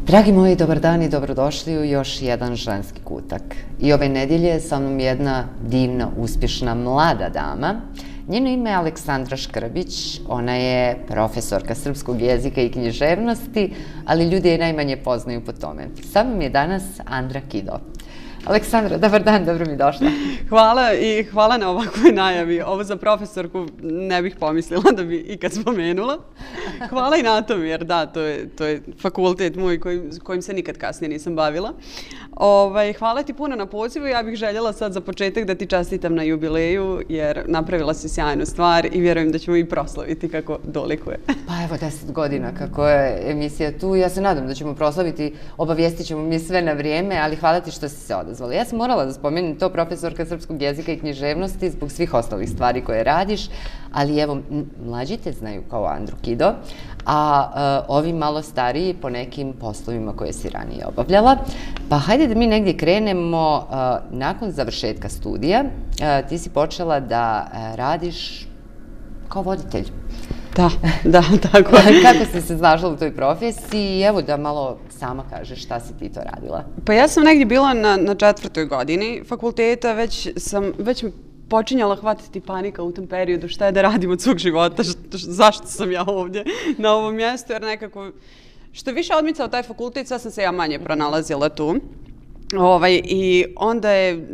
Dragi moji, dobar dan i dobrodošli u još jedan ženski kutak. I ove nedjelje je sa mnom jedna divna, uspješna, mlada dama. Njeno ime je Aleksandra Škrbić, ona je profesorka srpskog jezika i književnosti, ali ljudi je najmanje poznaju po tome. Sa mnom je danas Andra Kido. Aleksandra, dobar dan, dobro mi došla. Hvala i hvala na ovakvoj najavi. Ovo za profesorku ne bih pomislila da bi ikad spomenula. Hvala i na tom, jer da, to je fakultet moj kojim se nikad kasnije nisam bavila. Hvala ti puno na pozivu. Ja bih željela sad za početak da ti čestitam na jubileju, jer napravila si sjajnu stvar i vjerujem da ćemo i proslaviti kako dolikuje. Pa evo 10 godina kako je emisija tu. Ja se nadam da ćemo proslaviti, obavijestit ćemo mi sve na vrijeme, ali hvala ti što si se odazvala. Ja sam morala da spomenem to, profesorka srpskog jezika i književnosti, zbog svih ostalih stvari koje radiš, ali evo, mlađi te znaju kao Andru Kido, a ovi malo stariji po nekim poslovima koje si ranije obavljala. Pa hajde da mi negdje krenemo. Nakon završetka studija ti si počela da radiš kao voditelj. Da, tako je. Kako si se snašla u toj profesiji? Evo da malo sama kažeš šta si ti to radila. Pa ja sam negdje bila na 4. godini fakulteta, već počinjala hvatiti panika u tom periodu, šta je da radim od svog života, zašto sam ja ovdje na ovom mjestu, jer nekako što više odmicao taj fakultet, sve sam se ja manje pronalazila tu. I onda je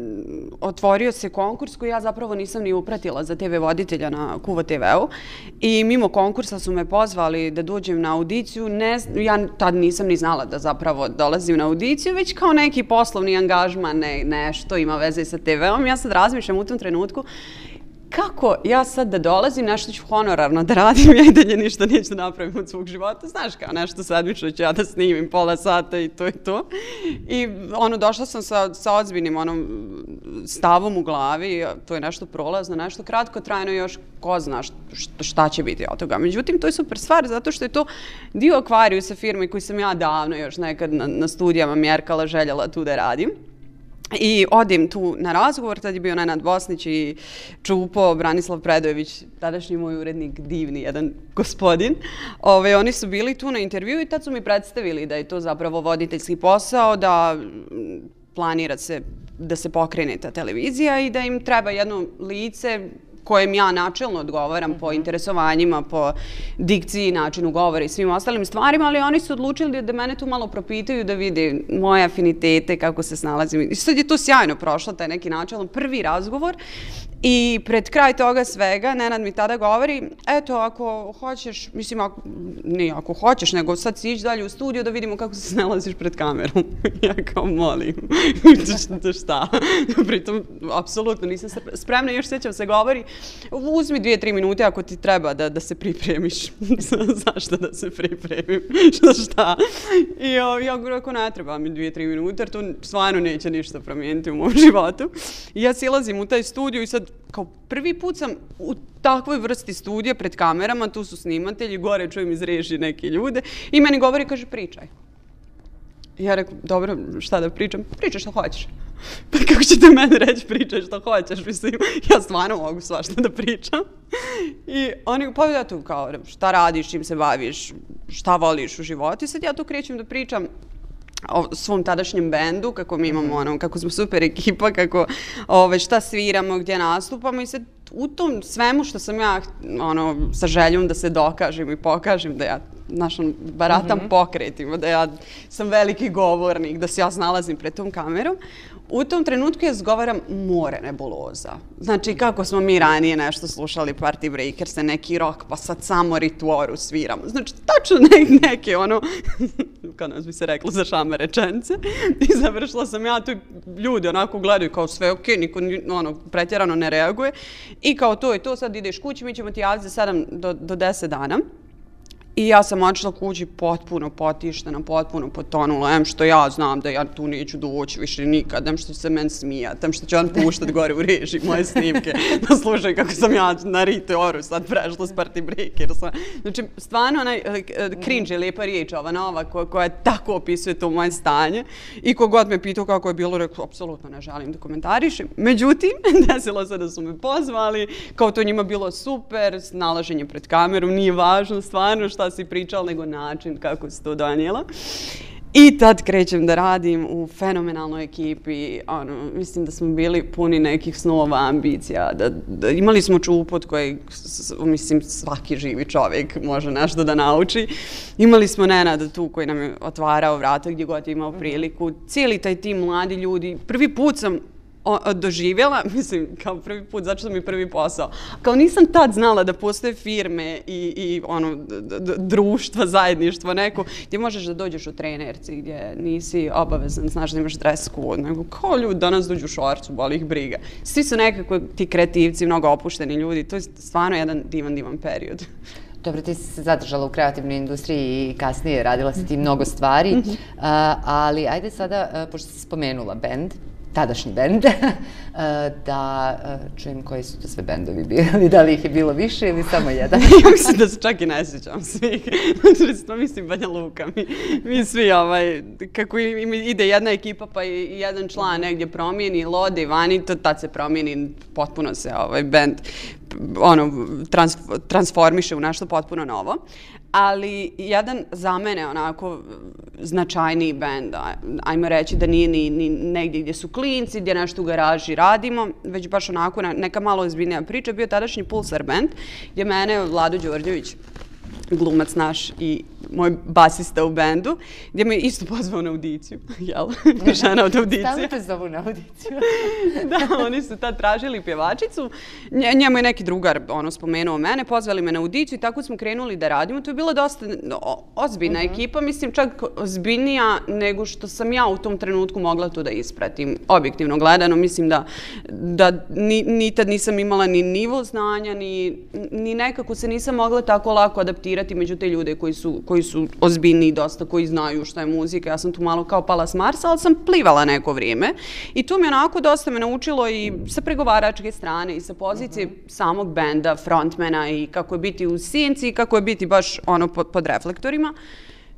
otvorio se konkurs koji ja zapravo nisam ni upratila za TV voditelja na Kuvo TV-u i mimo konkursa su me pozvali da dođem na audiciju. Ja tad nisam ni znala da zapravo dolazim na audiciju, već kao neki poslovni angažman, nešto ima veze sa TV-om. Ja sad razmišljam u tom trenutku kako ja sad da dolazim, nešto ću honorarno da radim, ja i dalje ništa neću da napravim od svog života. Znaš, kao nešto sedmično ću ja da snimim pola sata i to je to. I došla sam sa ozbiljnim stavom u glavi, to je nešto prolazno, nešto kratko trajno, još ko zna šta će biti od toga. Međutim, to je super stvar zato što je to dio Akvariusa firme koju sam ja davno još nekad na studijama mjerkala, željela tu da radim. I odim tu na razgovor, tad je bio Nenad Bosnić i Čupo, Branislav Predojević, tadašnji moj urednik, divni jedan gospodin. Oni su bili tu na intervju i tad su mi predstavili da je to zapravo voditeljski posao, da planira se da se pokrene ta televizija i da im treba jedno lice kojem ja načelno odgovaram po interesovanjima, po dikciji, načinu govora i svim ostalim stvarima, ali oni su odlučili da mene tu malo propitaju, da vide moje afinitete, kako se snalazim. I sad je to sjajno prošlo, taj neki načelan prvi razgovor. I pred kraj toga svega, Nenad mi tada govori, eto, ako hoćeš, mislim, nije ako hoćeš, nego sad si ići dalje u studiju da vidimo kako se snalaziš pred kamerom. Ja kao molim, šta? Pritom, apsolutno nisam spremna, još sjećam se govori, uzmi 2-3 minute ako ti treba da se pripremiš. Zašto da se pripremim? Šta? I ja rekao, ne treba mi 2-3 minute, jer to stvarno neće ništa promijeniti u mom životu. I ja silazim u taj studiju i sad kao prvi put sam u takvoj vrsti studija pred kamerama, tu su snimatelji, gore čujem iz režije neke ljude i meni govori, kaže, pričaj. Ja rekao, dobro, šta da pričam? Pričaj što hoćeš. Pa kako ćete meni reći pričaj što hoćeš? Mislim, ja stvarno mogu svašta da pričam. I oni, pa ja tu kao, šta radiš, čim se baviš, šta voliš u životu? I sad ja tu krećem da pričam o svom tadašnjem bendu, kako mi imamo, kako smo super ekipa, kako šta sviramo, gdje nastupamo i sad u tom svemu što sam ja sa željom da se dokažem i pokažem da ja baratam pokretima, da ja sam veliki govornik, da se ja snalazim pred tom kamerom. U tom trenutku ja zgovaram more nebuloza. Znači, kako smo mi ranije nešto slušali Party Breakers, neki rock, pa sad samo Rituoru sviramo. Znači, tačno neke, kao nas bi se reklo, za šame rečence. I završila sam ja tu, ljudi onako gledaju kao sve ok, niko pretjerano ne reaguje. I kao to je to, sad ideš kući, mi ćemo ti javiti za 7 do 10 dana. I ja sam odšla kući potpuno potištena, potpuno potonula, što ja znam da ja tu neću doći više nikad, što će se meni smijati, što će on puštati gore u režiji moje snimke, da slušaju kako sam ja na Rituoru sad prešla s Party Breakersa. Znači, stvarno onaj cringe je lijepa riječ, ova nova koja tako opisuje to moje stanje i kogod me pitao kako je bilo, rekao, apsolutno ne želim da komentarišem. Međutim, desilo se da su me pozvali, kao to njima bilo super, snalaženje pred kamerom, nije važno stvarno šta si pričala, nego način kako si to donijela. I tad krećem da radim u fenomenalnoj ekipi, mislim da smo bili puni nekih snova, ambicija, imali smo čup od kojeg, mislim, svaki živi čovjek može nešto da nauči. Imali smo Nenada tu koji nam je otvarao vrata gdje god je imao priliku. Cijeli taj tim mladi ljudi. Prvi put sam doživjela, mislim, kao prvi put, zato što mi je prvi posao. Kao nisam tad znala da postoje firme i društva, zajedništvo neko, gdje možeš da dođeš u trenerci, gdje nisi obavezan, znaš da imaš dres code, nego kao ljudi danas dođu u šorcu, boli ih briga. Svi su nekako ti kreativci, mnogo opušteni ljudi, to je stvarno jedan divan period. Dobro, ti si se zadržala u kreativnoj industriji i kasnije radila si ti mnogo stvari, ali ajde sada, pošto si spomenula bend, tadašnji bend, da čujem koji su to sve bendovi bili, da li ih je bilo više ili samo jedan? Ja mislim da se čak i ne sjećam svih. Mislim, Banja Luka, mi svi, kako ide jedna ekipa pa i jedan član negdje promijeni, lode, vani, tad se promijeni, potpuno se bend transformiše u nešto potpuno novo. Ali jedan za mene onako značajniji bend, ajmo reći da nije ni negdje gdje su klinci, gdje nešto u garaži radimo, već baš onako neka malo ozbiljnija priča, bio tadašnji Pulsar band, gdje mene Vlado Đorđević, glumac naš i moj basista u bendu, gdje me isto pozvao na audiciju, jel? Žena od audicije. Stalno te zovu na audiciju. Da, oni su tad tražili pjevačicu, njemu je neki drugar spomenuo mene, pozvali me na audiciju i tako smo krenuli da radimo. To je bila dosta ozbiljna ekipa, mislim čak ozbiljnija nego što sam ja u tom trenutku mogla to da ispratim. Objektivno gledano, mislim da ni tad nisam imala ni nivo znanja, ni nekako se nisam mogla tako lako adaptirati među te ljude koji su ozbiljni dosta, koji znaju šta je muzika. Ja sam tu malo kao pala s Marsa, ali sam plivala neko vrijeme. I to mi onako dosta me naučilo i sa pregovaračke strane i sa pozicije samog benda, frontmana i kako je biti u sjenci i kako je biti baš pod reflektorima.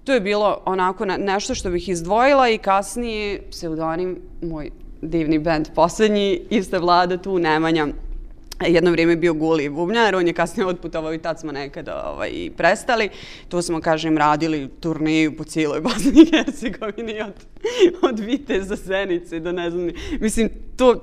To je bilo onako nešto što bih izdvojila i kasnije pseudonim, moj divni bend posljednji, iste Vlada tu, Nemanja. Jedno vrijeme je bio Guli bubnjar, on je kasnije otputovao i tad smo nekada i prestali. Tu smo, kažem, radili turneju po cijeloj Bosni i Hercegovini od Viteza, Zenice do ne znam. Mislim,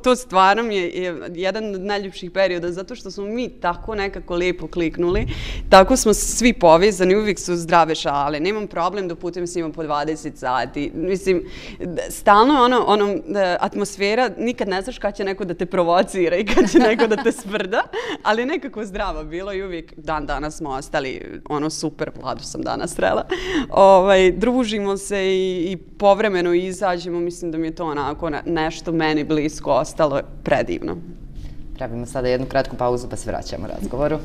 to stvarno mi je jedan od najljepših perioda zato što smo mi tako nekako lijepo kliknuli, tako smo svi povezani, uvijek su zdrave šale, nemam problem da putujem s njima po 20 sati. Mislim, stalno atmosfera, nikad ne znaš kad će neko da te provocira i kad će neko da te sprda, ali nekako zdravo bilo i uvijek danas smo ostali super, Vladu sam danas srela. Družimo se i povremeno izađemo, mislim da mi je to onako nešto meni blisko ostalo predivno. Pravimo sada jednu kratku pauzu pa se vraćamo razgovoru.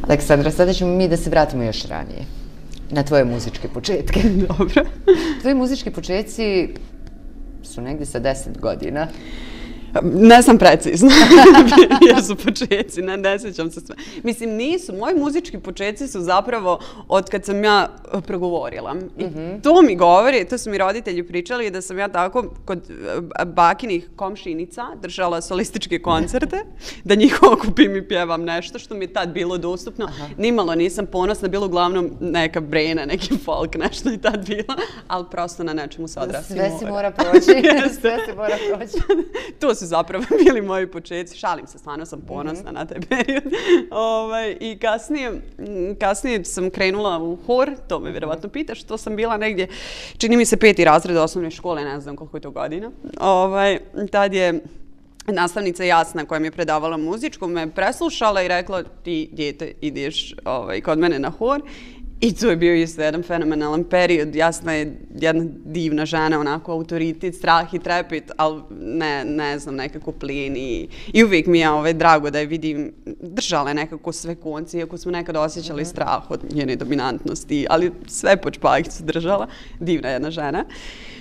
Aleksandra, sada ćemo mi da se vratimo još ranije, na tvoje muzičke početke. Dobro. Tvoji muzički početci su negdje sa 10 godina. Ne sam precizna, jer su početci, ne sjećam se sve. Mislim, nisu, moji muzički početci su zapravo od kad sam ja progovorila. I to mi govori, to su mi roditelji pričali, da sam ja tako kod bakinih komšinica držala solističke koncerte, da njih okupim i pjevam nešto što mi je tad bilo dostupno. Nimalo nisam ponosna, bilo uglavnom neka brena, neki folk, nešto je tad bilo, ali prosto na nečemu se odrasti mora. Sve se mora proći, sve se mora proći. To su zapravo bili moji početci. Šalim se, stvarno sam ponosna na taj period. I kasnije sam krenula u hor, to me vjerovatno pitaš, to sam bila negdje, čini mi se 5. razred osnovne škole, ne znam koliko je to godina. Tad je nastavnica Jasna koja mi je predavala muzičku me preslušala i rekla ti dijete ideš kod mene na hor. I to je bio isto jedan fenomenalan period. Jasna je jedna divna žena, onako autoritet, strah i trepit, ali ne znam, nekako plin i uvijek mi je drago da je vidim, držala je nekako sve konci, iako smo nekada osjećali strah od njene dominantnosti, ali sve pod špagicu držala. Divna jedna žena.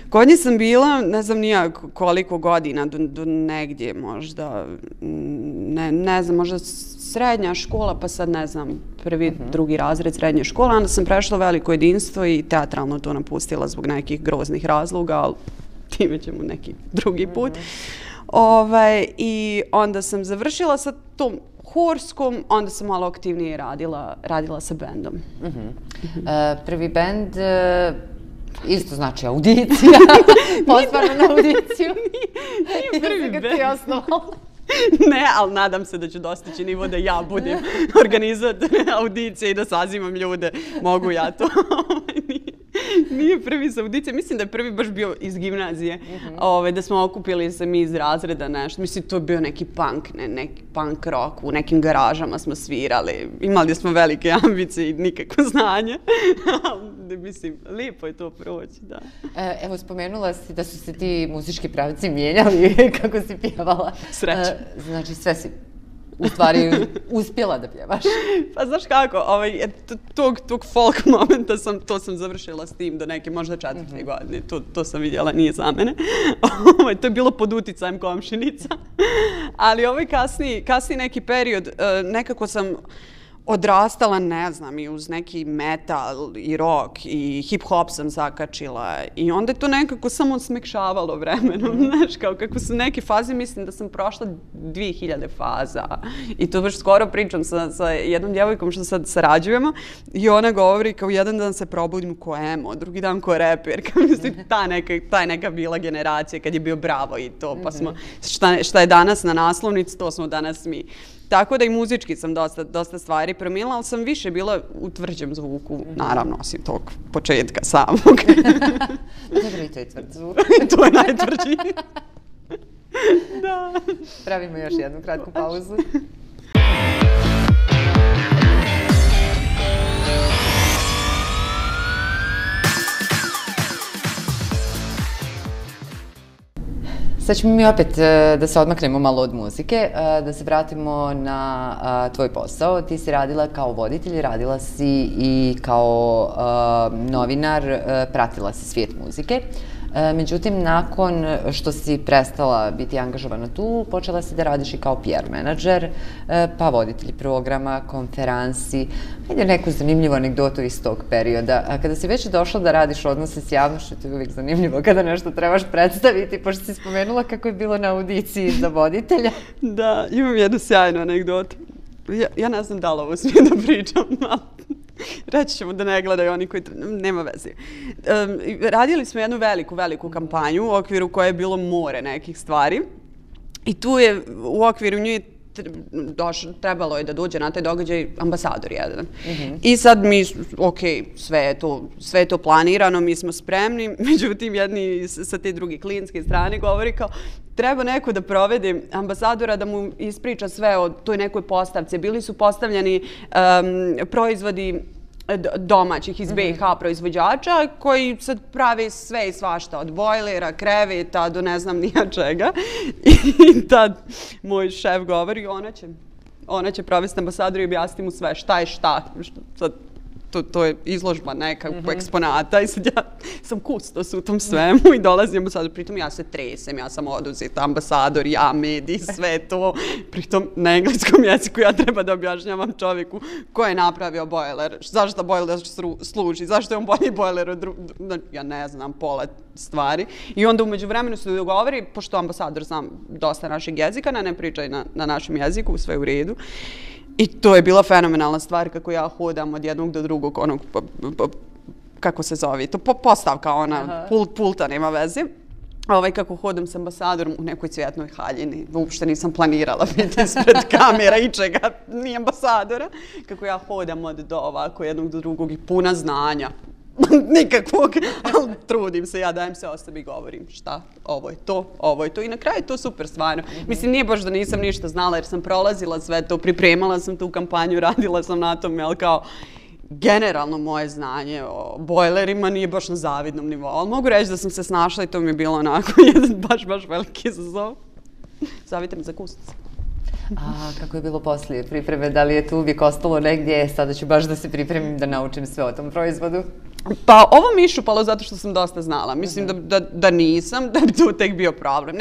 Kod nje sam bila, ne znam nija koliko godina, do negdje možda, ne znam, možda srednja škola, pa sad ne znam, prvi, drugi razred srednje škole, onda sam prešla Veliko jedinstvo i teatralno to napustila zbog nekih groznih razloga, ali time ćemo neki drugi put. I onda sam završila sa tom horskom, onda sam malo aktivnije radila sa bendom. Prvi bend isto znači audicija, pozvana na audiciju. Nije prvi bend. Ti je osnovala. Ne, ali nadam se da ću dostići nivo da ja budem organizator audicije i da sazivam ljude. Mogu ja to. Nije prvi sa audicije. Mislim da je prvi baš bio iz gimnazije. Da smo okupili se mi iz razreda nešto. Mislim, to je bio neki punk, neki punk rock. U nekim garažama smo svirali. Imali smo velike ambicije i nikakvo znanje. Mislim, lijepo je to proći, da. Evo, spomenula si da su se ti muzički pravci mijenjali kako si pjevala. Sreće. Znači, sve si u stvari uspjela da pjevaš. Pa znaš kako, tog folk momenta to sam završila s tim do neke možda 4. godine. To sam vidjela, nije za mene. To je bilo pod uticajem komšinica. Ali kasniji neki period, nekako sam odrastala, ne znam, i uz neki metal i rock i hip-hop sam zakačila i onda je to nekako samo smekšavalo vremenom, znaš, kao kako su neke faze, mislim da sam prošla 2000 faza i to baš skoro pričam sa jednom djevojkom što sad sarađujemo i ona govori kao jedan dan se probudim ko emo, drugi dan ko reper, kao mislim ta neka bila generacija kad je bio Bravo i to, pa smo, šta je danas na naslovnici, to smo danas mi. Tako da i muzički sam dosta stvari promijenila, ali sam više bila u tvrđem zvuku, naravno, osim tog početka samog. Dobro, i to je tvrd zvuk. To je najtvrđi. Da. Pravimo još jednu kratku pauzu. Sad ćemo mi opet da se odmaknemo malo od muzike, da se vratimo na tvoj posao. Ti si radila kao voditelj, radila si i kao novinar, pratila si svijet muzike. Međutim, nakon što si prestala biti angažovana tu, počela si da radiš i kao PR menadžer, pa voditelj programa, konferansi. Hajde neku zanimljivu anegdotu iz tog perioda. A kada si već došla da radiš odnose s javnošću, to je uvijek zanimljivo kada nešto trebaš predstaviti, pošto si spomenula kako je bilo na audiciji za voditelja. Da, imam jednu sjajnu anegdotu. Ja ne znam da li ovo smijem da pričam, ali reći ćemo da ne gledaju oni koji... Nema veze. Radili smo jednu veliku kampanju u okviru koje je bilo more nekih stvari i tu je u okviru nje trebalo je da dođe na taj događaj ambasador jedan. I sad mi, ok, sve je to planirano, mi smo spremni, međutim jedni sa te druge klinske strane govori kao treba neko da provede ambasadora da mu ispriča sve o toj nekoj postavci. Bili su postavljeni proizvodi domaćih iz BiH proizvođača koji sad prave sve i svašta od bojlera, kreveta do ne znam nija čega. I tad moj šef govori ona će provesti ambasador i objasniti mu sve šta je šta. Sad, to je izložba neka eksponata i sad ja sam kustos u tom svemu i dolazim ambasador, pritom ja se tresem, ja sam oduzeta ambasador, ja mediji, sve to, pritom na engleskom jeziku ja treba da objašnjavam čovjeku ko je napravio bojler, zašto bojler služi, zašto je on bolji bojler od ja ne znam, pola stvari. I onda umeđu vremenu se dogovori, pošto ambasador znam dosta našeg jezika, ne pričaj na našem jeziku, sve u redu. I to je bila fenomenalna stvar kako ja hodam od jednog do drugog, onog, kako se zove, to postavka ona, pulta nema veze. Kako hodam s ambasadorom u nekoj cvjetnoj haljini, uopšte nisam planirala biti ispred kamera i čega, ni ambasadora. Kako ja hodam od do ovako jednog do drugog i puna znanja. Nikakvog, ali trudim se, ja dajem se osobi i govorim šta, ovo je to i na kraju je to super stvarno. Mislim, nije baš da nisam ništa znala jer sam prolazila sve to, pripremala sam tu kampanju, radila sam na tome, ali kao generalno moje znanje o bojlerima nije baš na zavidnom nivou, ali mogu reći da sam se snašla i to mi je bilo onako jedan baš veliki izazov. Zavite me za kusnicu. A kako je bilo poslije pripreme? Da li je tu uvijek ostalo negdje? Sada ću baš da se pripremim da naučim sve o tom proizvodu. Pa ovo mi iščupalo zato što sam dosta znala. Mislim da nisam, da bi to tek bio problem.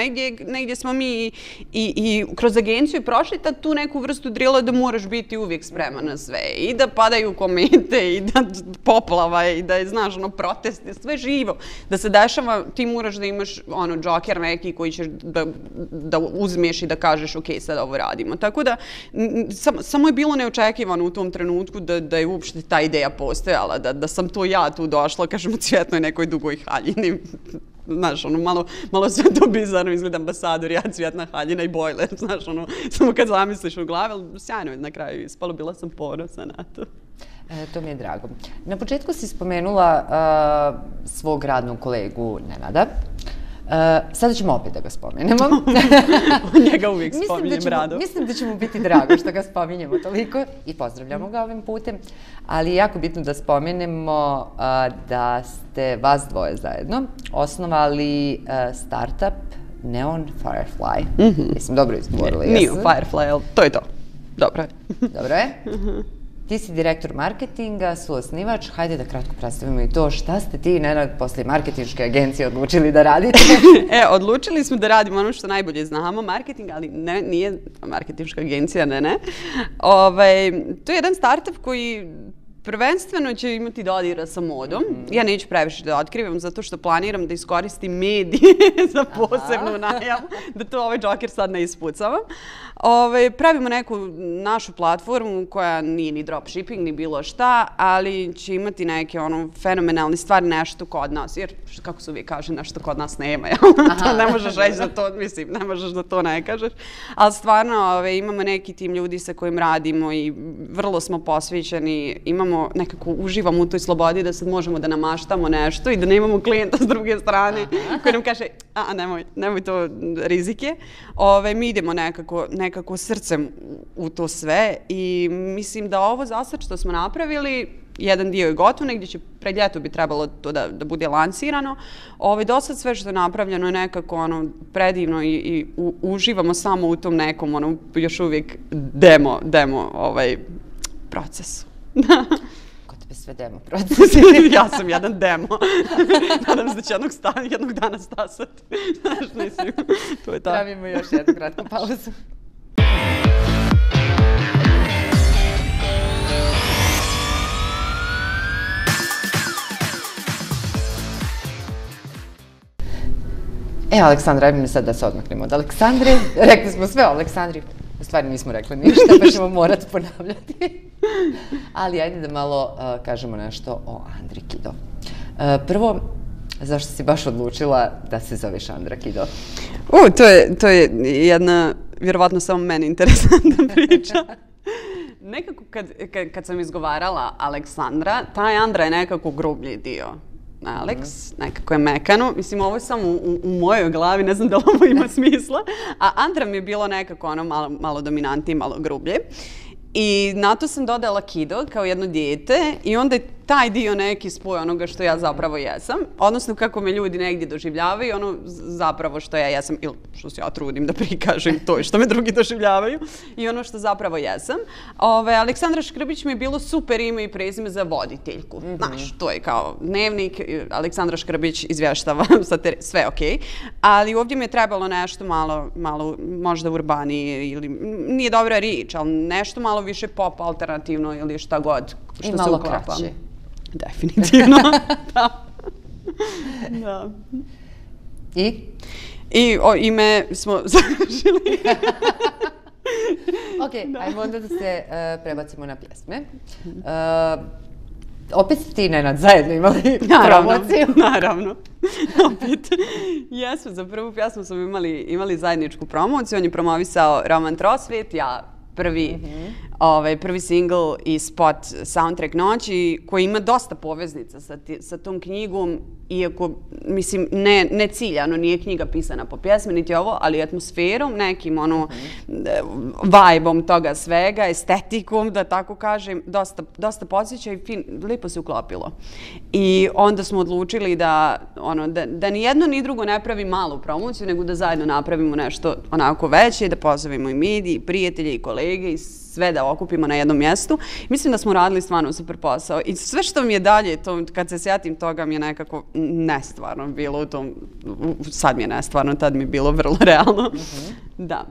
Negdje smo mi i kroz agenciju prošli tu neku vrstu drila da moraš biti uvijek spreman na sve. I da padaju komete, i da poplava, i da je, znaš, protesti, sve živo. Da se dešava, ti moraš da imaš džoker neki koji ćeš da uzmeš i da kažeš ok, sad ovo radimo. Tako da, samo je bilo neočekivano u tom trenutku da je uopšte ta ideja postojala, da sam to ja tu došla, kažem, u cvjetnoj nekoj dugoj haljini. Znaš, malo sve to bizarno izgleda, ambasador, ja, cvjetna haljina i bojler, znaš, samo kad zamisliš u glavi, ali sjajno je na kraju ispalo, bila sam ponosna na to. To mi je drago. Na početku si spomenula svog radnog kolegu Nenada. Sada ćemo opet da ga spomenemo. Njega uvijek spominjem rado. Mislim da će mu biti drago što ga spominjemo toliko i pozdravljamo ga ovim putem. Ali je jako bitno da spomenemo da ste vas dvoje zajedno osnovali startup Neon Firefly. Mislim, dobro izgovorila. Neon Firefly, ali to je to. Dobro je. Dobro je. Ti si direktor marketinga, suosnivač. Hajde da kratko predstavimo i to. Šta ste ti, Nenad, posle marketinške agencije odlučili da radite? Odlučili smo da radimo ono što najbolje znamo, marketing, ali nije marketinška agencija, ne. To je jedan startup koji prvenstveno će imati dodira sa modom. Ja neću previše da otkrivam zato što planiram da iskoristim medije za posebnu najavu, da to ovaj džoker sad ne ispucavam. Pravimo neku našu platformu koja nije ni dropshipping, ni bilo šta, ali će imati neke fenomenalne stvari, nešto kod nas. Jer, kako se uvijek kaže, nešto kod nas nema. To ne možeš reći da to, mislim, ne možeš da to ne kažeš. Ali stvarno imamo neki tim ljudi sa kojim radimo i vrlo smo posvećeni, nekako uživamo u toj slobodi da sad možemo da namaštamo nešto i da nemamo klijenta s druge strane koji nam kaže, nemoj to rizike. Mi idemo nekako srcem u to sve i mislim da ovo za sad što smo napravili, jedan dio je gotov, negdje će pred ljeto bi trebalo to da bude lansirano. Do sad sve što je napravljeno je nekako predivno i uživamo samo u tom nekom još uvijek demo procesu. Kod tebe sve demo proces. Ja sam jedan demo. Nadam se da će jednog dana stasati. Znaš, mislim, to je tako. Pravimo još jednu kratku pauzu. Aleksandra, ajmo mi sad da se odmaknemo od Aleksandre. Rekli smo sve o Aleksandri. U stvari nismo rekli ništa, pa ćemo morati ponavljati. Ali ajde da malo kažemo nešto o Andri Kido. Prvo, zašto si baš odlučila da se zoveš Andra Kido? To je jedna, vjerovatno samo meni interesantna priča. Nekako kad sam izgovarala Aleksandra, taj Andra je nekako grublji dio. Alex, nekako je mekano. Mislim, ovo je samo u mojoj glavi, ne znam da li ovo ima smisla. A Andra mi je bilo nekako malo dominantnije, malo grublje. I na to sam dodala Kido kao jedno dijete i onda je taj dio neki spoj onoga što ja zapravo jesam. Odnosno kako me ljudi negdje doživljavaju, ono zapravo što ja jesam ili što se ja trudim da prikažem to što me drugi doživljavaju i ono što zapravo jesam. Aleksandra Škrbić mi je bilo super ime i prezime za voditeljku. Znaš, to je kao dnevnik, Aleksandra Škrbić izvještava, sve okej. Ali ovdje mi je trebalo nešto malo možda urbanije ili nije dobra riječ, ali nešto malo više pop alternativno ili šta god što se uklapa. I malo kraće. Definitivno, da. I? I ime smo završili. Ok, ajmo onda da se prebacimo na pjesme. Opet ste ti, Nenad, zajedno imali promociju. Naravno. Opet. Jesmo, za prvu pjesmu smo imali zajedničku promociju. On je promovisao Roman Trosvijet, ja prvi single i spot Soundtrack noći koji ima dosta poveznica sa tom knjigom, iako, mislim, ne ciljano, nije knjiga pisana po pjesmi, niti ovo, ali atmosferom, nekim vibe-om toga svega, estetikom, da tako kažem, dosta podsjeća i lijepo se uklopilo. I onda smo odlučili da ni jedno ni drugo ne pravi malu promociju, nego da zajedno napravimo nešto onako veće, da pozovemo i mediji, i prijatelje, i kolege, i sve da okupimo na jednom mjestu. Mislim da smo radili stvarno super posao i sve što mi je dalje, kad se sjetim toga mi je nekako nestvarno bilo u tom, sad mi je nestvarno, tad mi je bilo vrlo realno. Da.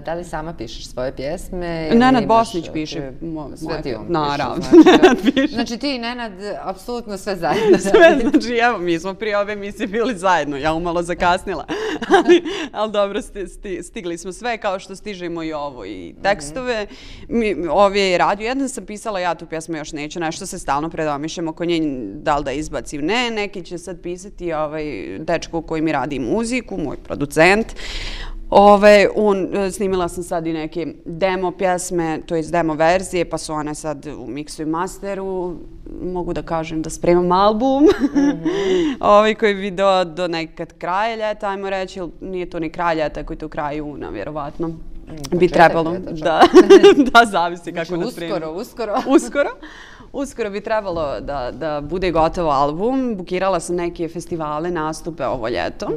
Da li sama pišeš svoje pjesme? Nenad Bosnić piše. Sve ti on naravno. piše. Znači ti i Nenad, apsolutno sve zajedno. Sve, znači evo, mi smo prije ove emisije bili zajedno, ja umalo zakasnila. Ali dobro, stigli smo sve, kao što stižemo i ovo i tekstove. Ove je radio, jedan sam pisala, ja tu pjesmu još neću, nešto se stalno predomišljam oko nje, da li da izbacim. Ne, neki će sad pisati dečko koji mi radi muziku, moj producent. Snimila sam sad i neke demo pjesme, to je demo verzije, pa su one sad u miksu i masteru. Mogu da kažem da spremam album koji bi do nekad kraja ljeta, ajmo reći, nije to ni kraj ljeta, koji je to kraj juna, vjerovatno. Bi trebalo, da, zavisi kako nas spremamo. Uskoro bi trebalo da bude gotov album. Bukirala sam neke festivale, nastupe ovo ljeto.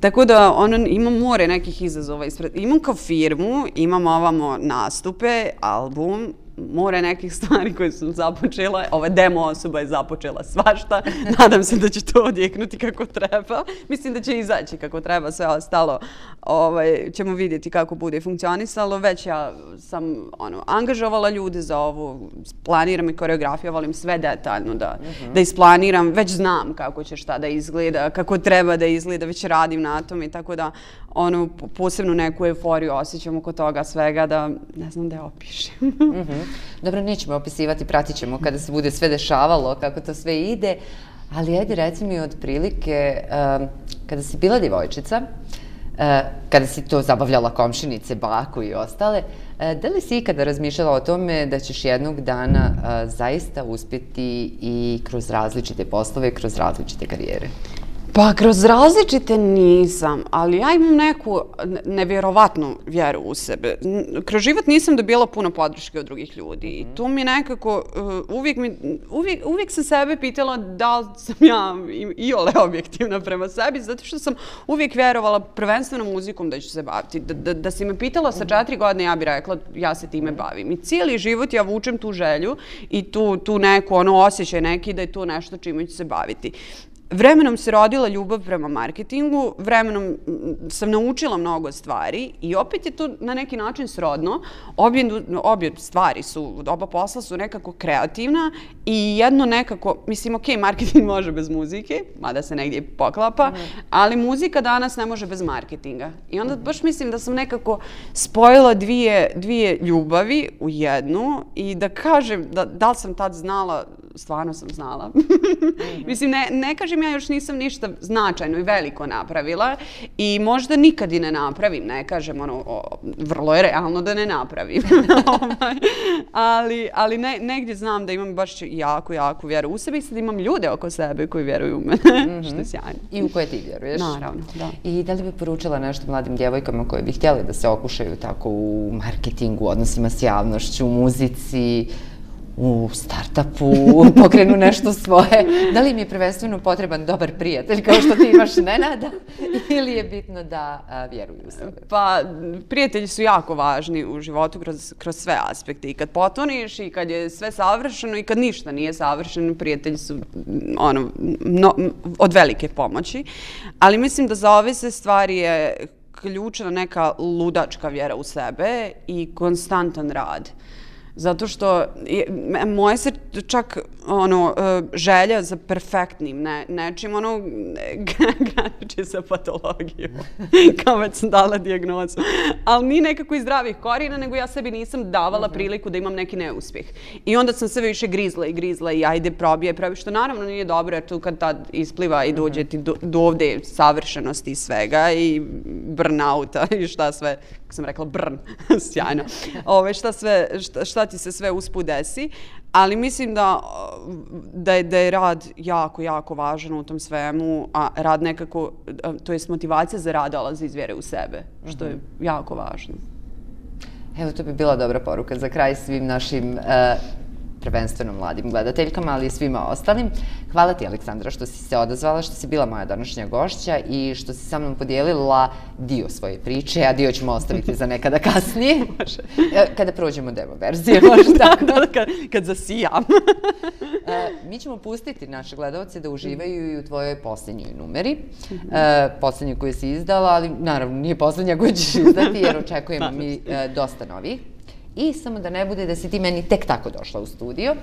Tako da imam more nekih izazova ispred. Imam kao firmu, imam ovamo nastupe, album, more nekih stvari koje sam započela. Ova demo osoba je započela svašta. Nadam se da će to odjeknuti kako treba. Mislim da će izaći kako treba. Sve ostalo ćemo vidjeti kako bude funkcionisalo. Već ja sam angažovala ljude za ovo. Planiram i koreografiju. Volim sve detaljno da isplaniram. Već znam kako će šta da izgleda, kako treba da izgleda. Već radim na tom i tako da posebnu neku euforiju osjećam oko toga svega da ne znam da je opišem. Dobro, nećemo opisivati, pratit ćemo kada se bude sve dešavalo, kako to sve ide, ali ajde reci mi otprilike, kada si bila djevojčica, kada si to zabavljala komšinice, baku i ostale, da li si ikada razmišljala o tome da ćeš jednog dana zaista uspjeti i kroz različite poslove, kroz različite karijere? Pa kroz različite nisam, ali ja imam neku nevjerovatnu vjeru u sebe. Kroz život nisam dobila puno podrške od drugih ljudi i tu mi nekako, uvijek sam sebe pitala da li sam ja iole objektivna prema sebi, zato što sam uvijek vjerovala prvenstveno muzikom da ću se baviti. Da si me pitala sa 4 godine, ja bih rekla ja se time bavim. I cijeli život ja vučem tu želju i tu neku osjećaj neki da je to nešto čime ću se baviti. Vremenom se rodila ljubav prema marketingu, vremenom sam naučila mnogo stvari i opet je to na neki način srodno. Obje stvari su, oba posla su nekako kreativna i jedno nekako, mislim, ok, marketing može bez muzike, mada se negdje poklapa, ali muzika danas ne može bez marketinga. I onda baš mislim da sam nekako spojila dvije ljubavi u jednu i da kažem da li sam tad znala, stvarno sam znala. Mislim, ne kažem ja još nisam ništa značajno i veliko napravila i možda nikad i ne napravim, ne kažem, vrlo je realno da ne napravim. Ali negdje znam da imam baš jako vjeru u sebe i sad imam ljude oko sebe koji vjeruju u mene, što je sjajno. I u koje ti vjeruješ. Naravno, da. I da li bi poručila nešto mladim djevojkama koje bi htjeli da se okušaju tako u marketingu, odnosima s javnošću, u muzici, u start-upu, pokrenu nešto svoje. Da li im je prvenstveno potreban dobar prijatelj kao što ti imaš Nenada ili je bitno da vjeruju u sebe? Pa, prijatelji su jako važni u životu kroz sve aspekte. I kad potoniš i kad je sve savršeno i kad ništa nije savršeno, prijatelji su od velike pomoći. Ali mislim da za ove sve stvari je ključna neka ludačka vjera u sebe i konstantan rad. Zato što moje se čak želja za perfektnim nečim, graniči sa patologijom, kao već sam dala dijagnozu. Ali ni nekako iz zdravih korijena, nego ja sebi nisam davala priliku da imam neki neuspjeh. I onda sam sve više grizla i ajde probije, što naravno nije dobro, jer tu kad tad ispliva i dođe ti do ovde savršenosti i svega i burnouta i šta sve, kako sam rekla, sjajno, šta ti se sve usput desi, ali mislim da je rad jako važan u tom svemu, a rad nekako, to je motivacija za rad dolazi iz vjere u sebe, što je jako važno. Evo, to bi bila dobra poruka za kraj svim našim prvenstveno mladim gledateljkama, ali i svima ostalim. Hvala ti, Aleksandra, što si se odazvala, što si bila moja današnja gošća i što si sa mnom podijelila dio svoje priče, a dio ćemo ostaviti za nekada kasnije. Kada prođemo demo verzije, možda tako. Kad zasijam. Mi ćemo pustiti naše gledalce da uživaju i u tvojoj posljednjoj numeri. Posljednju koju si izdala, ali naravno nije posljednja koju ćeš izdati, jer očekujemo mi dosta novih. I samo da ne bude da si ti meni tek tako došla u studio,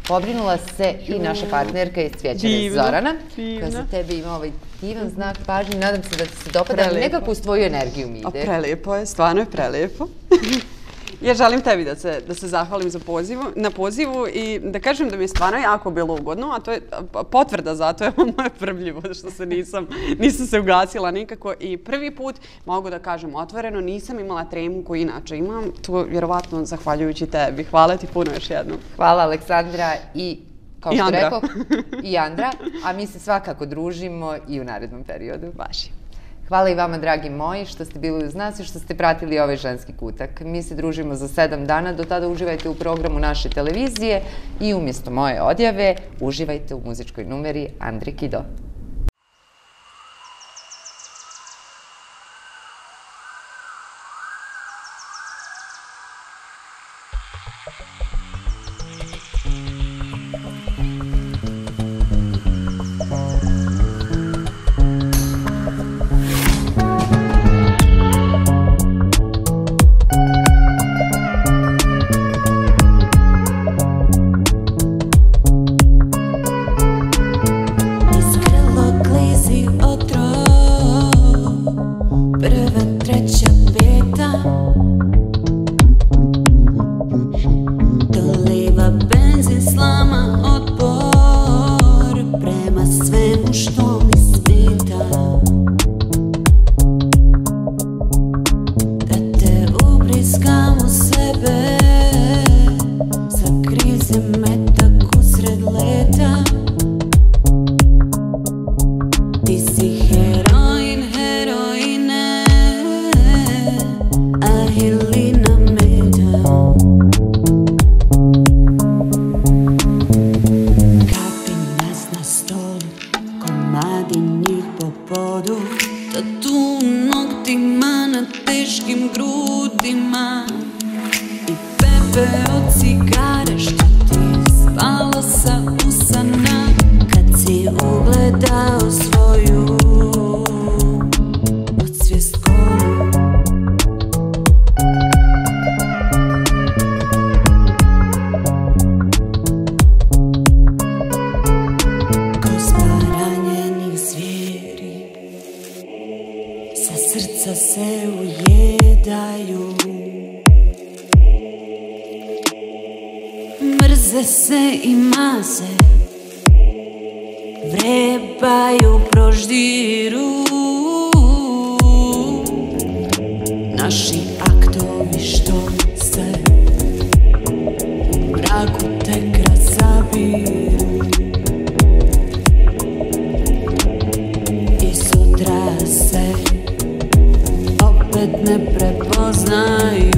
pobrinula se i naša partnerka iz Cvjećare Zorana, koja za tebe ima ovaj divan znak pažnje. Nadam se da ti se dopada, ali nekako uz tvoju energiju mi ide. Prelijepo je, stvarno je prelijepo. Ja želim tebi da se zahvalim na pozivu i da kažem da mi je stvarno jako bilo ugodno, a to je potvrda za to je moje prbljivo, što se nisam se ugasila nikako i prvi put, mogu da kažem otvoreno, nisam imala tremu koju inače imam, to vjerovatno zahvaljujući tebi. Hvala ti puno još jednom. Hvala Aleksandra i kao što rekao, i Andra, a mi se svakako družimo i u narednom periodu. Baš je. Hvala i vama, dragi moji, što ste bili uz nas i što ste pratili ovaj ženski kutak. Mi se družimo za 7 dana, do tada uživajte u programu naše televizije i umjesto moje odjave uživajte u muzičkoj numeri Andri Kido. Mrze se i maze, vrebaju, proždiru. Naši aktovi što se u mraku tek razabiru. I sutra se opet ne prepoznaju.